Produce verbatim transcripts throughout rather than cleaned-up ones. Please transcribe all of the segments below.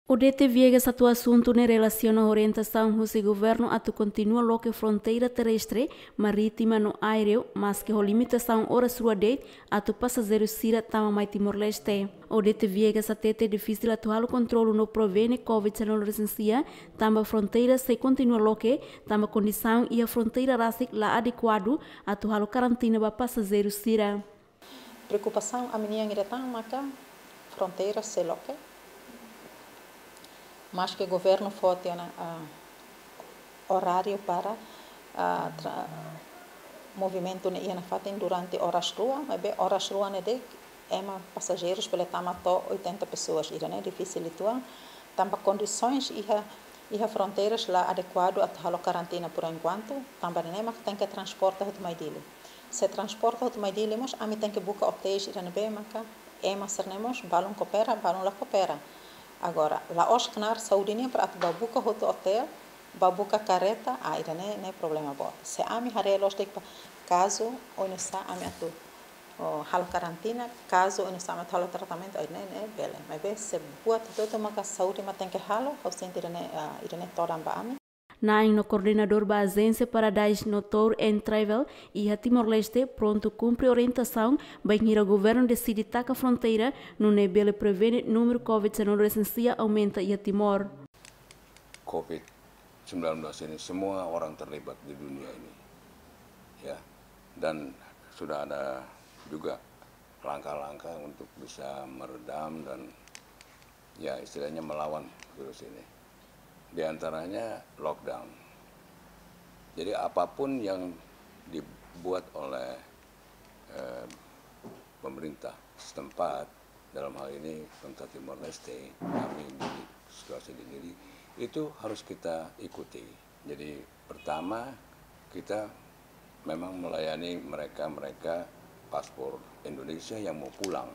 Odete Viegas hato'o asuntu ne'e relasiona ho orientasaun husi governu atu kontinua loke fronteira terrestre, marítima no aéreu, maske ho limitasaun oras rua de'it atu pasajeiru sira tama mai Timor-Leste. Odete Viegas hatete difisil atu halo kontrolu no prevene covid sanulu resin sia, tanba fronteira sei kontinua loke, tanba kondisaun iha fronteira rasik la adekuadu atu halo karantina ba pasajeiru sira. Preokupasaun ami-nian ida tan maka fronteira sei loke. Maske governu fó tiha ona, ah, oráriu para, ah, tra-, movimentu ne'e iha nafatin durante oras rua, maibé oras rua ne'e de'it ema pasajeirus bele tama to'o oitenta pessoas, ida-ne'e difisil uitoan, tanba kondisoens iha, iha fronteiras la adekuadu atu halo karantina por enkuantu, tanba ne'e maka tenke transporta hotu mai Dili. Se transporta hotu mai Dili mós, ami tenke buka otéis ida ne'ebé maka ema sira-ne'e mós balun koopera, balun la koopera. Agora, la'ós knaar saúde nian para atu bá buka hotu otél, bá buka kareta, ah, ida-ne'e, ne'e problema boot. Se ami haree loos de'it ba kazu, oinsá ami atu, oh, halo karantina, kazu, oinsá ami atu halo tratamentu, ai, ne'e, ne'e bele. Maibé se buat hotu-hotu maka saúde mak tenke halo, ha'u sente ida-ne'e, ah, ida-ne'e todan ba ami. Na'in no koordenadór ba ajénsia Paradise no Tour and Travel iha Timor-Leste prontu kumpre orientasaun bainhira governu deside taka fronteira, nune'e bele prevene númeru covid sanulu resin sia aumenta iha Timor. Covid sembilan belas ini semua orang terlibat di dunia ini. Ya, dan sudah ada juga langkah-langkah untuk bisa meredam dan, ya, istilahnya melawan virus ini. Di antaranya lockdown. Jadi apapun yang dibuat oleh, eh, pemerintah setempat, dalam hal ini pemerintah Timor Leste, kami di situasi di Dili, itu harus kita ikuti. Jadi pertama, kita memang melayani mereka-mereka paspor Indonesia yang mau pulang.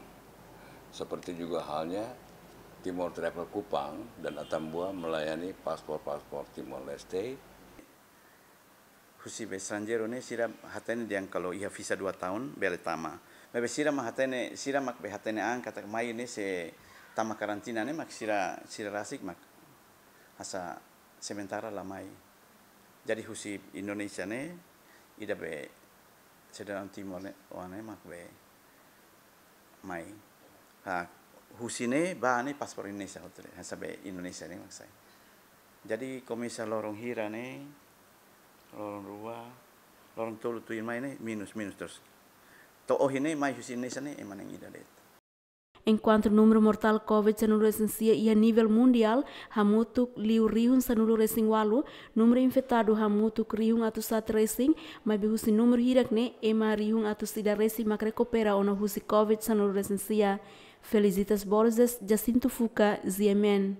Seperti juga halnya Timor Travel Kupang dan Atambua melayani paspor-paspor Timor Leste. Husi be estranjeiru ne'e sira hatene dehan kalau iha visa dua tahun bele tama. Maibé sira mak hatene, sira mak be hatene an katak mai ne'e se tama karantina ne'e mak sira, sira rasik mak asa sementara la mai. Jadi husi Indonesia ne'e, ida be sidadaun Timor ne'e, oan ne'e mak be mai. Ha, husi ne'e ba ne'e paspor Indonesia hotu de'it, hanesan be Indonesia ne'e mak sai. Jadi komesa loron hira ne'e, loron rua, loron tolu tuir mai ne'e, minus, minus terus. To'o ohin ne'e mai husi Indonesia ne'e, ema na'in ida de'it. Enkuantu númeru mortál covid sanulu resin sia iha nivel mundiál hamutuk liu rihun sanulu resin ualu, númeru infetadu hamutuk rihun atus haat resin, maibé husi númeru hirak ne'e ema rihun atus ida resin mak rekupera ona husi covid sanulu resin sia. Felicitas Borges, Jacinto Fuca, G M N.